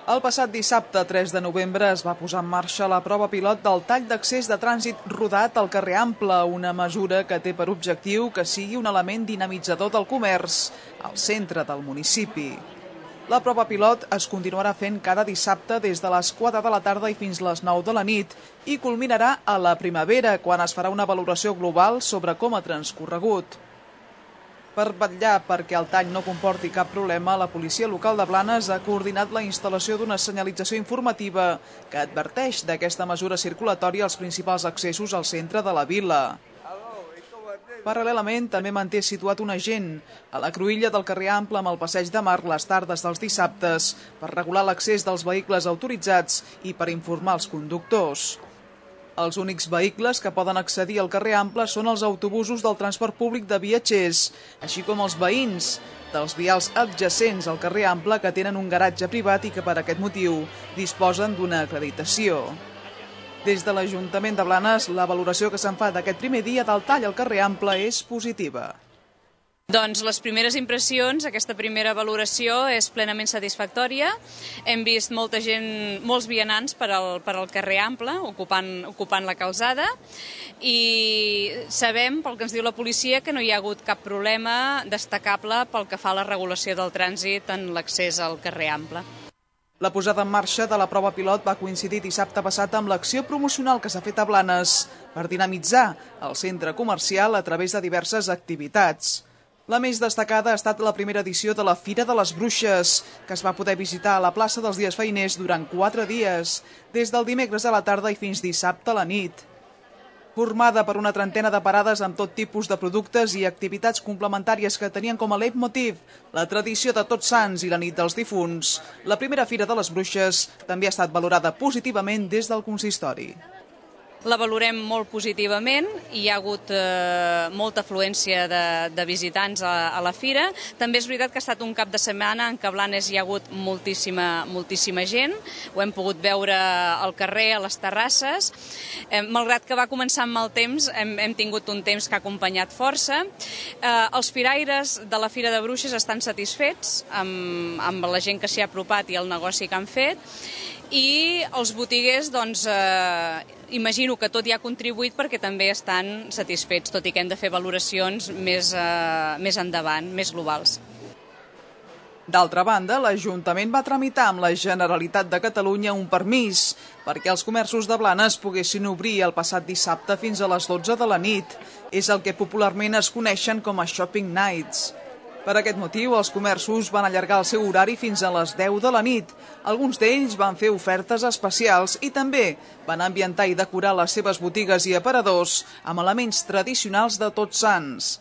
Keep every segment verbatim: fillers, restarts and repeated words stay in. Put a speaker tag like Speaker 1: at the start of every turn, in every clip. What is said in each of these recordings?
Speaker 1: El passat dissabte, tres de novembre, es va posar en marxa la prova pilot del tall d'accés de trànsit rodat al carrer Ample, una mesura que té per objectiu que sigui un element dinamitzador del comerç al centre del municipi. La prova pilot es continuarà fent cada dissabte des de les quatre de la tarda i fins les nou de la nit i culminarà a la primavera, quan es farà una valoració global sobre com ha transcorregut. Per vetllar perquè el tall no comporti cap problema, la policia local de Blanes ha coordinat la instal·lació d'una senyalització informativa que adverteix d'aquesta mesura circulatòria als principals accessos al centre de la vila. Paral·lelament, també manté situat un agent a la cruïlla del carrer Ample amb el passeig de Mar les tardes dels dissabtes per regular l'accés dels vehicles autoritzats i per informar els conductors. Els únics vehicles que poden accedir al carrer Ample són els autobusos del transport públic de viatgers, així com els veïns dels vials adjacents al carrer Ample que tenen un garatge privat i que per aquest motiu disposen d'una acreditació. Des de l'Ajuntament de Blanes, la valoració que se'n fa d'aquest primer dia del tall al carrer Ample és positiva.
Speaker 2: Doncs les primeres impressions, aquesta primera valoració és plenament satisfactòria. Hem vist molta gent, molts vianants per al, per al carrer Ample, ocupant, ocupant la calçada, i sabem, pel que ens diu la policia, que no hi ha hagut cap problema destacable pel que fa a la regulació del trànsit en l'accés al carrer Ample.
Speaker 1: La posada en marxa de la prova pilot va coincidir dissabte passat amb l'acció promocional que s'ha fet a Blanes per dinamitzar el centre comercial a través de diverses activitats. La més destacada ha estat la primera edició de la Fira de les Bruixes, que es va poder visitar a la plaça dels Dies Feiners durant quatre dies, des del dimecres a la tarda i fins dissabte a la nit. Formada per una trentena de parades amb tot tipus de productes i activitats complementàries que tenien com a leitmotiv la tradició de Tots Sants i la nit dels difunts, la primera Fira de les Bruixes també ha estat valorada positivament des del consistori.
Speaker 2: La valorem molt positivament, hi ha hagut eh, molta afluència de, de visitants a, a la fira. També és veritat que ha estat un cap de setmana en què a Blanes hi ha hagut moltíssima, moltíssima gent, ho hem pogut veure al carrer, a les terrasses. Eh, malgrat que va començar amb mal temps, hem, hem tingut un temps que ha acompanyat força. Eh, els firaires de la Fira de Bruixes estan satisfets amb, amb la gent que s'hi ha apropat i el negoci que han fet, i els botiguers, doncs, eh, imagino que tot hi ha contribuït perquè també estan satisfets, tot i que hem de fer valoracions més, eh, més endavant, més globals.
Speaker 1: D'altra banda, l'Ajuntament va tramitar amb la Generalitat de Catalunya un permís perquè els comerços de Blanes poguessin obrir el passat dissabte fins a les dotze de la nit. És el que popularment es coneixen com a Shopping Nights. Per aquest motiu, els comerços van allargar el seu horari fins a les deu de la nit. Alguns d'ells van fer ofertes especials i també van ambientar i decorar les seves botigues i aparadors amb elements tradicionals de Tots Sants.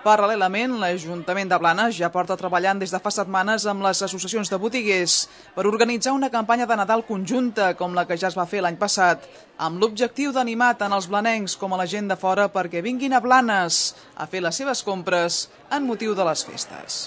Speaker 1: Paral·lelament, l'Ajuntament de Blanes ja porta treballant des de fa setmanes amb les associacions de botiguers per organitzar una campanya de Nadal conjunta com la que ja es va fer l'any passat, amb l'objectiu d'animar tant els blanencs com a la gent de fora perquè vinguin a Blanes a fer les seves compres en motiu de les festes.